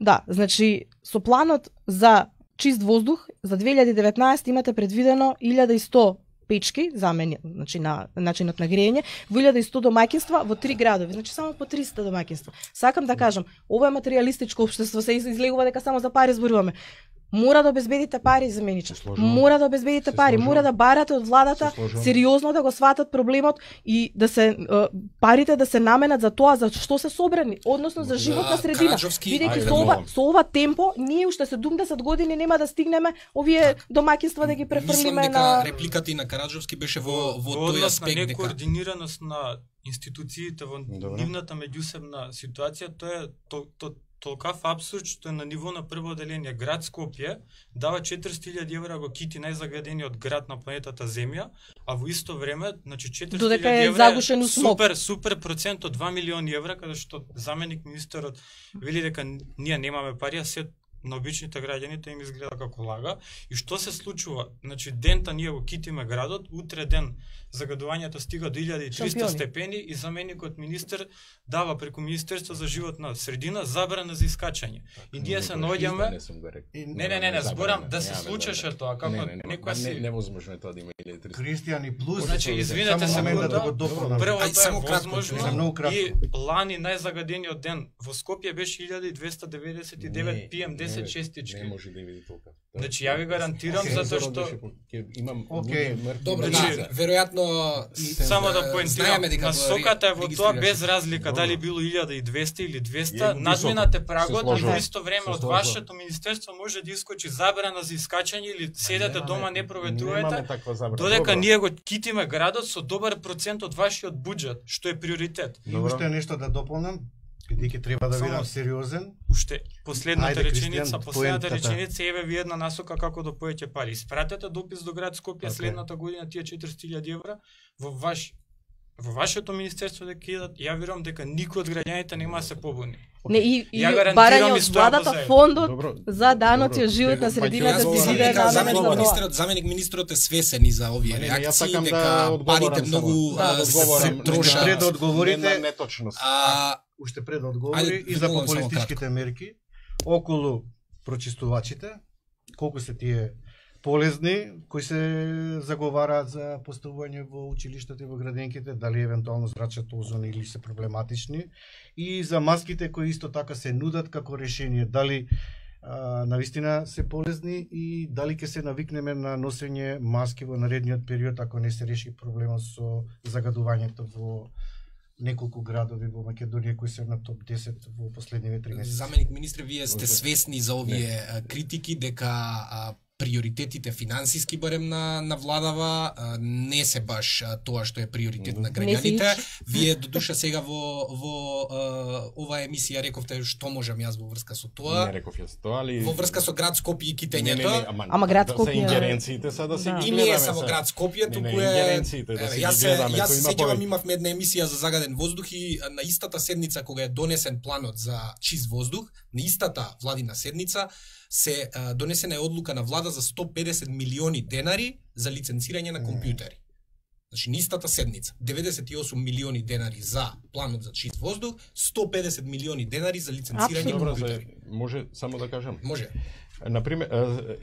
Да, значи со планот за чист воздух за 2019 имате предвидено 1100 печки замени, значи на начинот на грејење, во 1100 домаќинства во 3 градови, значи само по 300 домаќинства. Сакам да кажам, ова е материјалистичко општество, се излегува дека само за пари зборуваме. Мора да обезбедите пари за меничар. Мора да обезбедите пари, мора да барате од владата сериозно да го сватат проблемот и да се парите да се наменат за тоа за што се собрани, односно за животна средина. Бидејќи со ова темпо ние уште 70 години нема да стигнеме овие домаќинства да ги префрлиме на репликата и на Караджовски беше во тој аспект дека некоординираност на институциите во нивната меѓусебна ситуација, тоа е толкав абсурд што е на ниво на прво оделение. Град Скопје дава 400.000 евра го кити најзагадениот град на планетата Земја, а во исто време, значи 400.000 евра е супер процент од 2 милиони евра, каде што заменик министерот вели дека ние немаме пари, а се на обичните граѓаните им изгледа како лага. И што се случува? Значи дента ние го китиме градот, утре ден загадувањето стига до 1300 степени и заменикот министер дава преку Министерство за животна средина забрана за искачање. И ние се наоѓаме Не, зборам да се случеше тоа, како некоја си невозможно е тоа да има 1300. Кристијан и плюс. Значи извинете се да го дополнам. Прво тоа е возможно и лани најзагадениот ден во Скопје беше 1299 PM10 честички. Не може да види толку. Значи ја ви гарантирам затоа што имам добро, веројатно само да поентирам, насоката е во тоа без разлика дали било 1200 или 200, надминате прагот, а во исто време од вашето министерство може да искочи забрана за искачање или седете дома не проветрувате, додека ние го китиме градот со добар процент од вашиот буџет, што е приоритет. И уште нешто да дополнам, бидејќи треба да бидам сериозен. Уште последната реченица еве ви една насока како да поеќе пари. Испратете допис до град Скопје следната година тие 400.000 евра во вашето министерство да кидат. Ја верувам дека никој од граѓаните нема да се побуни. Не, и барање од владата фондот за даноци од животна средина да се биде на заменик министрот е свесен и за овие реакции дека парите многу се трошат. Пред да одговорите неточност. Уште пред да одговори и за популистичките мерки околу прочистувачите, колку се тие полезни кои се заговараат за поставување во училиштата и во градинките, дали евентуално зрачат озон или се проблематични, и за маските кои исто така се нудат како решение, дали навистина се полезни и дали ќе се навикнеме на носење маски во наредниот период ако не се реши проблемот со загадувањето во неколку градови во Македонија кои се на топ 10 во последниве 3 месеци. Заменик министре, вие сте свесни за овие критики дека приоритетите финансиски барем на владава не се баш тоа што е приоритет на граѓаните. Вие додуша сега во оваа емисија рековте што можам јас во врска со тоа. Не реков јас тоа, али во врска со град Скопје и китењето. Ама град Скопје за ингеренциите са да се и не е само град Скопје, туку е јас се сеќавам имавме една емисија за загаден воздух и на истата седница кога е донесен планот за чист воздух, на истата владина седница се донесена е одлука на влада за 150 милиони денари за лиценцирање на компјутери. Значи, нистата седница, 98 милиони денари за планот за чист воздух, 150 милиони денари за лиценцирање на компјутери. Може само да кажам? Може. Например,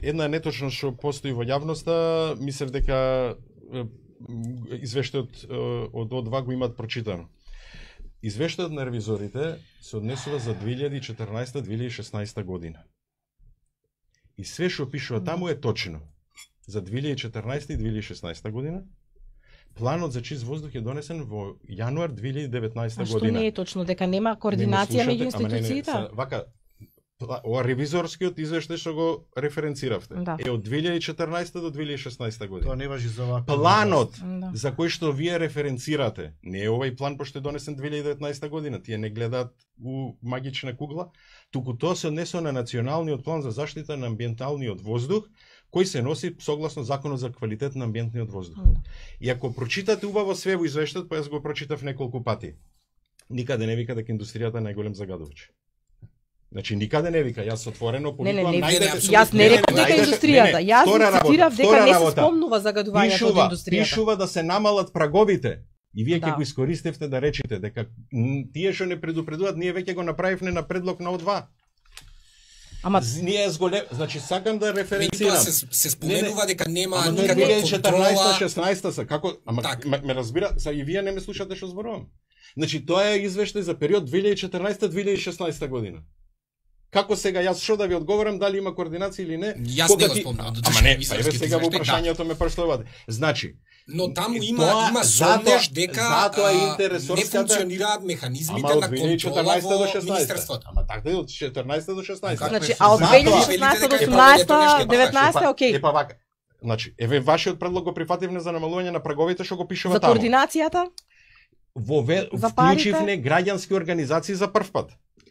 една неточност што постои во јавноста, мислев дека извештајот од О2 го имаат прочитано. Извештајот на ревизорите се однесува за 2014-2016 година. И све што пишува таму е точно. За 2014 и 2016 година, планот за чист воздух е донесен во јануар 2019 А што година. не е точно дека нема координација меѓу институциите? Вака, ова ревизорскиот извештај што го референциравте Да. е од 2014 до 2016 година. Тоа не важи за оваква. Планот Да. за кој што вие референцирате, не е овај план пошто е донесен 2019 година, тие не гледаат у магична кугла, туку тоа се однесува на националниот план за заштита на амбиенталниот воздух, кој се носи согласно законот за квалитет на амбиентниот воздух. Да. И ако прочитате убаво све во извештајот, па јас го прочитав неколку пати, никаде не вика дека индустријата е најголем загадувач. Значи никаде не вика, јас отворено Не, не, повикувам не, најдете. јас не реков дека најдете- индустријата. Јас втора работа, цитирав дека втора не се работа. спомнува загадувањето од индустријата. Пишува да се намалат праговите. И вие ќе Да. го искористевте да речете дека тие што не предупредуваат, ние веќе го направивме на предлог на О2. Ама Ние зголем, значи сакам да Меѓутоа референцирам. се споменува дека нема Ама никаква контрола. 2014-16 са како, ама Так. ме разбира, са и вие не ме слушате што зборувам. Значи тоа е извештај за период 2014-2016 година. Како сега јас што да ви одговорам дали има координација или не? Јас кога не го ти- спомнав, Ама додека не, ви па еве срските сега во извештаи, прашањето ме прашувате. Значи, Но таму И има тоа- има затоа- сомнеш дека затоа не интересорската- функционираат механизмите ама од на контрола 2014 до во 16. министерството. Ама така од 14 до 16. значи, се а од затоа- 2016 до Е, па, 18, ето, 19, окей. Епа вака. Значи, еве вашиот предлог го прифативме за намалување на праговите што го пишува За таму. координацијата? Вклучивне парите? граѓански организации за прв пат.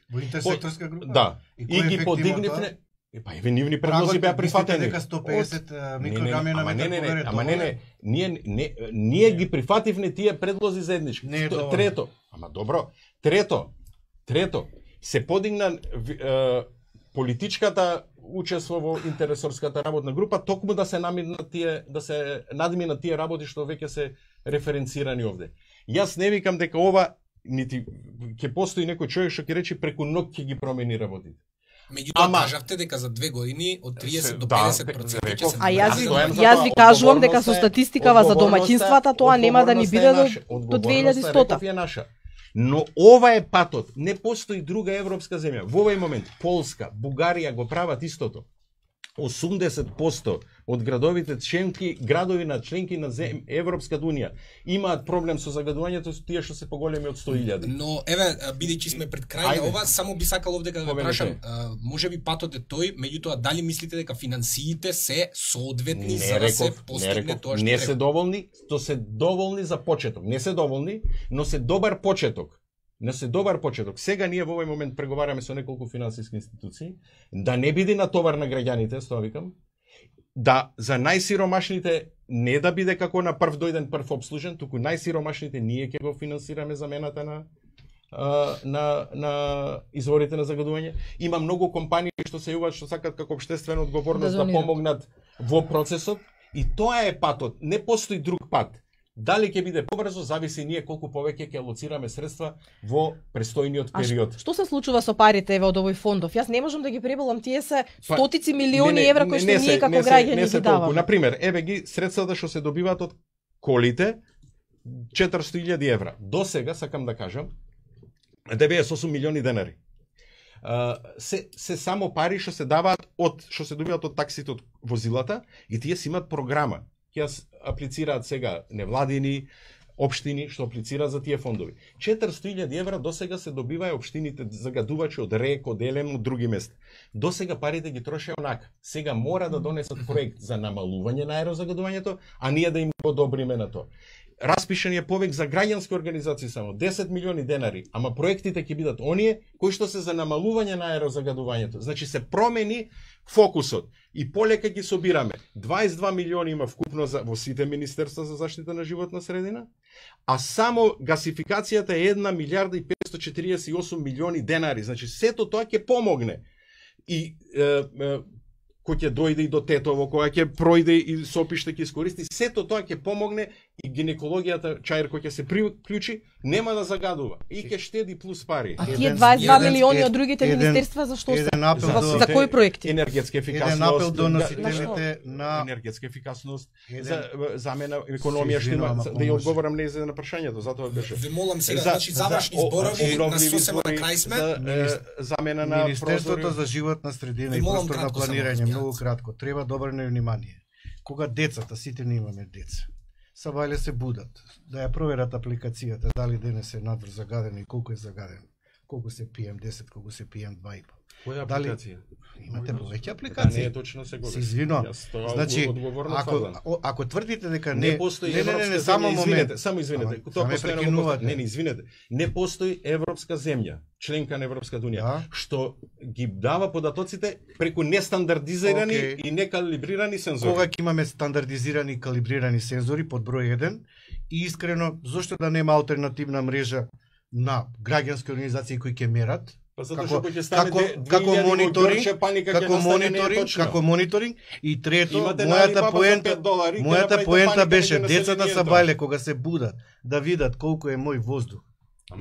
Во интерсекторска група? Да. И И кој ги ефект има подигнивне. Епа еве нивни предлози беа прифатени. Дека 150 микрограми на ама метар не, повере. ама не, ние ги прифативне тие предлози заеднички. Не е доволно. Трето, ама добро, трето, се подигна политичката учество во интересорската работна група токму да се надминат тие работи што веќе се референцирани овде. Јас не викам дека ова нити ќе постои некој човек што ќе рече преку ноќ ќе ги промени работите. Меѓутоа Ама- кажавте дека за 2 години од 30 до Да, 50% ќе реков. се А јас намали. стојам за јас тоа. ви кажувам дека со Одговорноста е- статистикава за домаќинствата тоа нема да ни биде до Одговорноста 2100. е наша. Но ова е патот. Не постои друга европска земја. Во овој момент Полска, Бугарија го прават истото. 80% од градови на членки на Европската унија имаат проблем со загадувањето, со тие што се поголеми од 100.000. Но еве бидејќи сме пред крај Ајде. на ова, само би сакал овде да ве Повелете. прашам, можеби патот е тој, меѓутоа дали мислите дека финансиите се соодветни за да се постигне тоа што не се треба? доволни, то се доволни за почеток. Не се доволни, но се добар почеток. Не се добар почеток. Сега ние во овој момент преговараме со неколку финансиски институции, да не биде натовар на граѓаните, тоа викам, да за најсиромашните не да биде како на прв дојден прв обслужен, туку најсиромашните ние ќе го финансираме замената на изворите на загадување. Има многу компании што се јавуваат што сакат како општествена одговорност да донират. помогнат во процесот и тоа е патот. Не постои друг пат. Дали ќе биде побрзо, зависи ние колку повеќе ќе алоцираме средства во престојниот А период. што се случува со парите еве од овој фондов? Јас не можам да ги преболам, тие се Па, стотици милиони евра кои што ние како граѓани ги даваме. Например, еве ги средствата што се добиваат од колите, 400.000 евра. До сега, сакам да кажам, 98 милиони денари. Се само пари што се даваат што се добиваат од таксите од возилата и тие си имаат програма. Ќе аплицираат сега невладини, општини што аплицираат за тие фондови. 400.000 евра досега се добиваја општините загадувачи од РЕК, од ЕЛЕМ, од други места. Досега парите ги трошеа онака. Сега мора да донесат проект за намалување на аерозагадувањето, а ние да им го одобриме на тоа. Распишан е повеќе за граѓански организации само 10 милиони денари, ама проектите ќе бидат оние кои што се за намалување на аерозагадувањето. Значи се промени фокусот и полека ги собираме. 22 милиони има вкупно во сите министерства за заштита на животна средина, а само гасификацијата е 1 милиарда и 548 милиони денари. Значи сето тоа ќе помогне. И кој ќе дојде и до Тетово, која ќе пројде и Сопиште ќе искористи, сето тоа ќе помогне и гинекологијата Чаир кој ќе се приклучи, нема да загадува и ќе штеди плюс пари. А тие Еден- 22 еден- милиони од другите еден- министерства за што се? Еден апел до За кои проекти? Енергетска ефикасност, еден апел до На носителите на енергетска ефикасност, Еден- за замена економија што има, Извинувам, да ако ја може. одговорам не за на прашањето, затоа беше. Ве молам сега, За- значи завршни за- зборови на обновливи сосема на избори, крај сме. за, замена на Министерството прозори. за животна средина Ви и молам просторно кратко само, планирање, разбирате. многу кратко, треба да обрне внимание. Кога децата, сите ние имаме деца, Сабајле се будат. Да ја проверат апликацијата, дали денес е надвор загаден и колку е загаден. Колку се PM10, колку се PM2,5. Која апликација? Имате повеќе Да, апликации. не е точно се Се извинувам. Значи, ако тврдите дека не постои не, европска само земја, момент. само извинете, Ама, тоа ме постојано го прекинувате. повторам. Не, извинете. Не постои европска земја, членка на Европската унија, Да. што ги дава податоците преку нестандардизирани Океј. и некалибрирани сензори. Кога ќе имаме стандардизирани и калибрирани сензори под број 1 и искрено зошто да нема алтернативна мрежа на граѓански организации кои ќе мерат? Па затоа Како- што ќе стане како мониторинг, како како мониторинг и трето, Имате мојата поента, поента беше децата са бајле кога се будат да видат колку е мој воздух.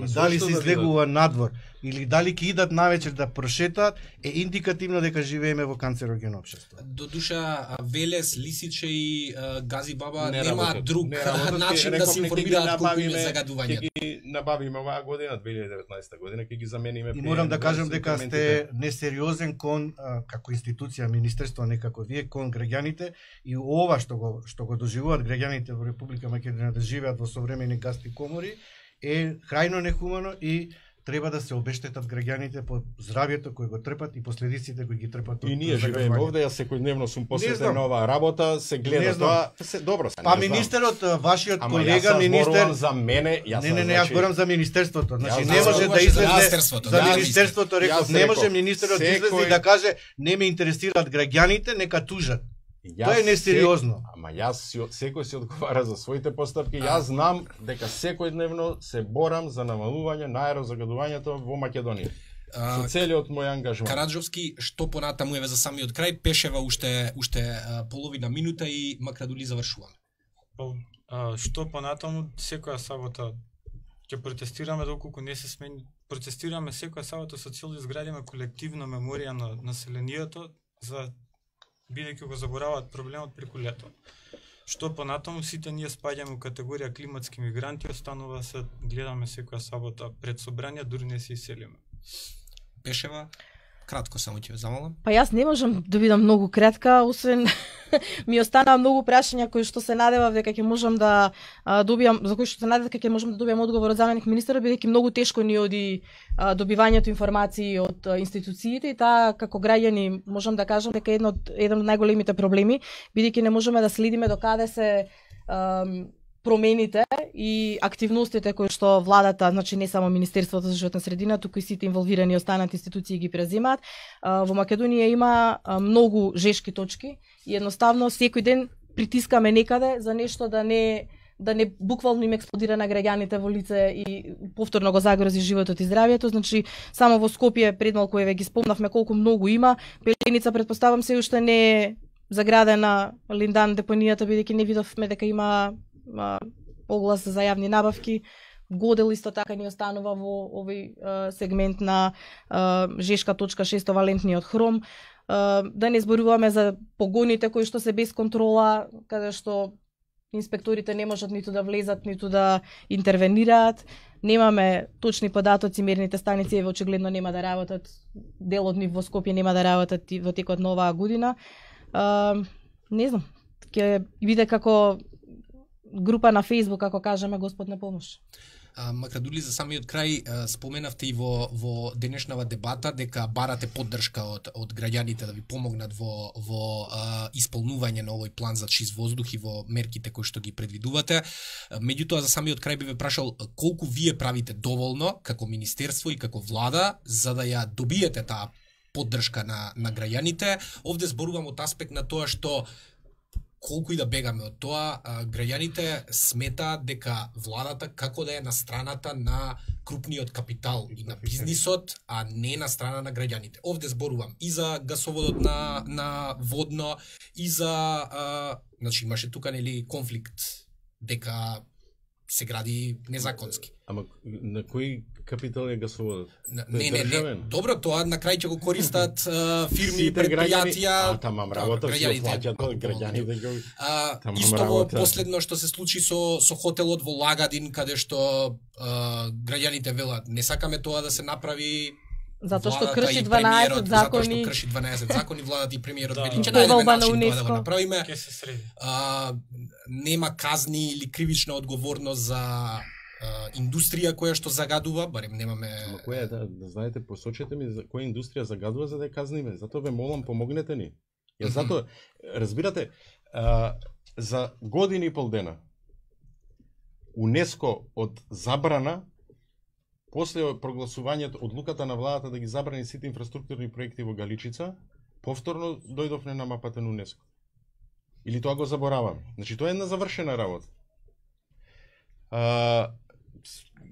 И дали се излегува надвор или дали ќе идат навечер да прошетаат е индикативно дека живееме во канцерогено општество. До душа Велес, Лисиче и Гази Баба Не нема работат. друг Не работат, начин да се информираат колку им е загадување. Ќе ги набавиме оваа година, 2019 година, ќе ги замениме. И морам да кажам дека сте несериозен кон како институција, министерство, не како вие, кон граѓаните и ова што го доживуваат граѓаните во Република Македонија да живеат во современи гасти комори е крајно нехумано и треба да се обештетат граѓаните по здравјето кој го трпат и последиците кои ги трпат. И ние живееме овде, јас секојдневно сум посветен знам. на оваа работа, се Не гледа знам. тоа, се добро се. Па не знам. министерот, вашиот Ама колега јас министер, зборувам за мене, јас не, јас зборам за министерството. Значи Јас не може зборувам да за излезе министерството, за да, министерството, реков, Јас не може реков, министерот да излезе и да каже не ме интересираат граѓаните, нека тужат. Тоа е несериозно. Ама секој си одговара за своите постапки. Јас знам дека секојдневно се борам за намалување на аерозагадувањето во Македонија. Со целиот мој ангажман. Караджовски, што понатаму еве за самиот крај, Пешева уште половина минута и Макрадули завршуваме. Што понатаму секоја сабота ќе протестираме доколку не се смени. Протестираме секоја сабота со цел да изградиме колективна меморија на населението за бидејќи го забораваат проблемот преку лето. Што понатаму сите ние спаѓаме у категорија климатски мигранти, останува се гледаме секоја сабота пред собрание, дури не се иселиме. Пешева, кратко само ќе ве замолам. Па јас не можам да бидам многу кратка, освен ми останаа многу прашања кои што се надевав дека ќе можам да добијам, за кои што се надевав дека ќе можам да добијам одговор од заменик министерот, бидејќи многу тешко ни оди добивањето информации од институциите и таа како граѓани можам да кажам дека еден од најголемите проблеми, бидејќи не можеме да следиме до каде се промените и активностите кои што владата, значи не само Министерството за животна средина, туку и сите инволвирани останати институции ги преземаат. Во Македонија има многу жешки точки и едноставно секој ден притискаме некаде за нешто да не буквално им експлодира на граѓаните во лице и повторно го загрози животот и здравјето. Значи само во Скопје пред малку еве ги спомнавме колку многу има. Пеленица претпоставам се уште не е заградена, Линдан депонијата, бидејќи не видовме дека има оглас за јавни набавки. Годел исто така ни останува во овој сегмент на жешка точка 6 валентниот хром. Да не зборуваме за погоните кои што се без контрола, каде што инспекторите не можат ниту да влезат, ниту да интервенираат. Немаме точни податоци, мерните станици еве очигледно нема да работат. Дел од нив во Скопје нема да работат во текот на оваа година. Не знам, ќе биде како група на Facebook, како кажеме, Господ на помош. Макрадули, за самиот крај споменавте и во денешнава дебата дека барате поддршка од граѓаните да ви помогнат во исполнување на овој план за чист воздух и во мерките кои што ги предвидувате. Меѓутоа, за самиот крај би ве прашал колку вие правите доволно како министерство и како влада за да ја добиете таа поддршка на граѓаните. Овде зборувам од аспект на тоа што колку и да бегаме од тоа, граѓаните сметаат дека владата како да е на страната на крупниот капитал и на бизнисот, а не на страна на граѓаните. Овде зборувам и за гасоводот на водно, и за значи имаше тука нели конфликт дека се гради незаконски. Ама на кој капитал е гасоводот? Не. Добро, тоа на крај ќе го користат фирми, предпријатија. Тамам работа ќе плаќаат граѓаните. Исто последно што се случи со хотелот во Лагадин, каде што граѓаните велат не сакаме тоа да се направи, Затоа што владата крши и 12 премиерот, затоа закони. што крши 12 закони, владата и премиерот Да. вели ќе Повелба најдеме на начин тоа да го УНЕСКО. направиме. Ќе се среди. Нема казни или кривична одговорност за индустрија која што загадува, барем немаме. Ама која е, да знаете, посочете ми за која индустрија загадува за да ја казниме. Затоа ве молам, помогнете ни. Ја затоа, разбирате, за години и пол дена УНЕСКО од забрана после прогласувањето одлуката на владата да ги забрани сите инфраструктурни проекти во Галичица, повторно дојдовме на мапата на УНЕСКО. Или тоа го забораваме. Значи тоа е една завршена работа.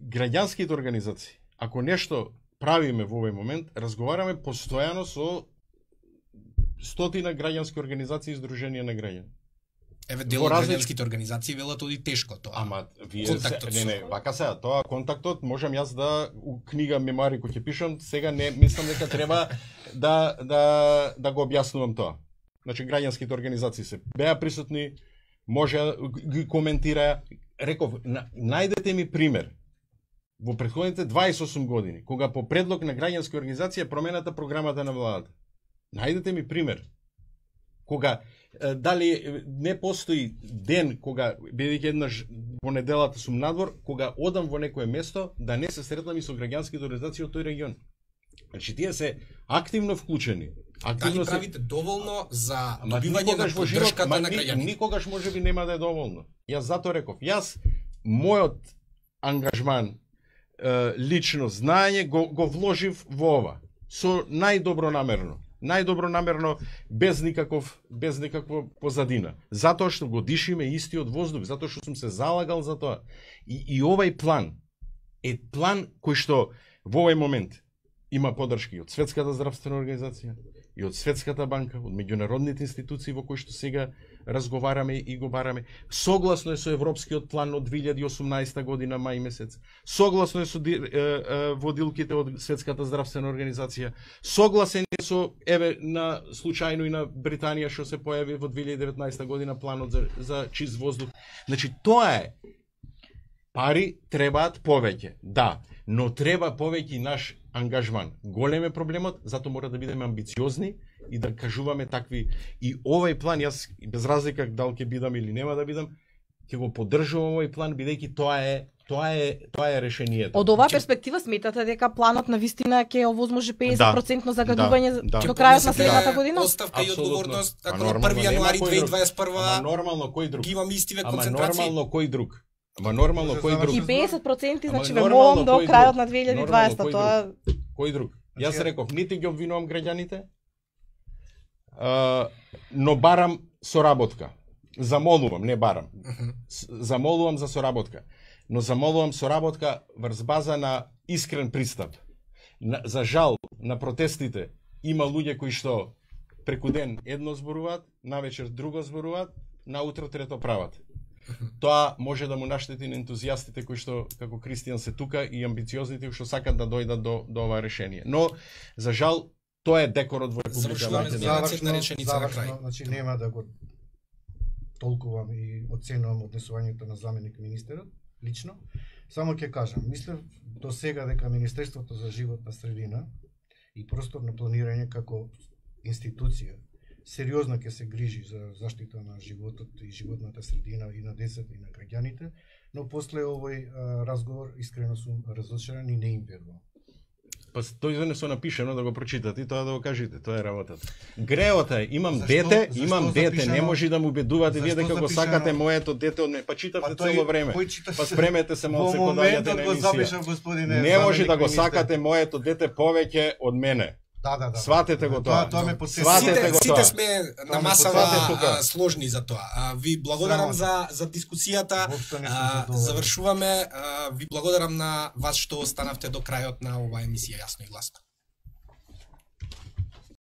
Граѓанските организации, ако нешто правиме во овој момент, разговараме постојано со стотина граѓански организации и издруженија на граѓани. Еве дел Во од различ- граѓанските организации велат оди тешко тоа. Ама вие Контактот не, со- вака сега, тоа контактот можам јас да у книга мемуари кој ќе пишам, сега не мислам дека треба да го објаснувам тоа. Значи граѓанските организации се беа присутни, може ги коментираа. Реков, најдете ми пример во претходните 28 години, кога по предлог на граѓански организација промената програмата на владата. Најдете ми пример. Кога дали не постои ден кога бидејќи еднаш во неделата сум надвор, кога одам во некое место да не се сретнам и со граѓанските организации од тој регион. Значи тие се активно вклучени. Дали Активно се правите доволно за Ама добивање на никогаш во живот, поддршката ма на граѓаните? никогаш можеби нема да е доволно. Јас затоа реков, мојот ангажман, лично знаење го вложив во ова со најдобро намерно без никаква позадина. Затоа што го дишиме истиот воздух, затоа што сум се залагал за тоа. И овај план е план кој што во овој момент има поддршки од Светската здравствена организација, и од Светската банка, од меѓународните институции во кои што сега разговараме и го бараме. Согласно е со Европскиот план од 2018 година мај месец. Согласно е со водилките од Светската здравствена организација. Согласен е со на случајно и на Британија што се појави во 2019 година планот за чист воздух. Значи тоа е. Пари требаат повеќе. Да, но треба повеќе наш ангажман. Голем е проблемот, затоа мора да бидеме амбициозни и да кажуваме такви. И овој план, јас без разлика дали ќе бидам или нема да бидам, ќе го поддржувам овој план, бидејќи тоа е решението. Од оваа перспектива сметате дека планот на вистина ќе овозможи 50% загадување да. до крајот на следната година? Оставка и Апсолутно. одговорност, Па ако на нормално, 1 јануари нема кој друг. 2021 Ама нормално кој друг? ги имам истиве Ама концентрации. нормално кој друг? Ама нормално кој друг? И 50% значи Ама ве нормално молам до кој крајот друг? на Нормално 2020 кој тоа Кој друг? Јас Значи, реков, нити ги обвинувам граѓаните, но барам соработка. Замолувам, не барам. Замолувам за соработка. Но замолувам соработка врз база на искрен пристап. За жал, на протестите има луѓе кои што преку ден едно зборуваат, навечер друго зборуваат, наутро трето прават. Тоа може да му наштети на ентузијастите кои што, како Кристијан, се тука и амбициозните кои што сакат да дојдат до ова решение. Но, за жал, тоа е декорот во Република Завршуваме Македонија. една реченица на крај. Значи нема да го толкувам и оценувам однесувањето на заменик министерот лично. Само ќе кажам, мислев до сега дека Министерството за животна средина и просторно планирање како институција сериозно ќе се грижи за заштита на животот и животната средина и на децата и на граѓаните, но после овој разговор искрено сум разочаран и не им верувам. Па тој не се напишено да го прочитате и тоа да го кажете, тоа е работата. Греот е, имам Зашто- дете, зашто имам дете, запишано- не може да му убедувате вие Зашто дека го запишано- сакате моето дете од мене. Па читавте Па тој- цело време. кој читаше? Па спремете се малце Во кога доаѓате моментот на го емисија. запишав, господине. Не може заменик да го министер. сакате моето дете повеќе од мене. Да. Сватете го тоа. Тоа ме потсети. Сватете го Сите тоа. сме на Сватете масава тука. сложни за тоа. Ви благодарам за дискусијата. Воопшто не сум задоволен. Завршуваме. Ви благодарам на вас што останавте до крајот на оваа емисија Јасно и гласно.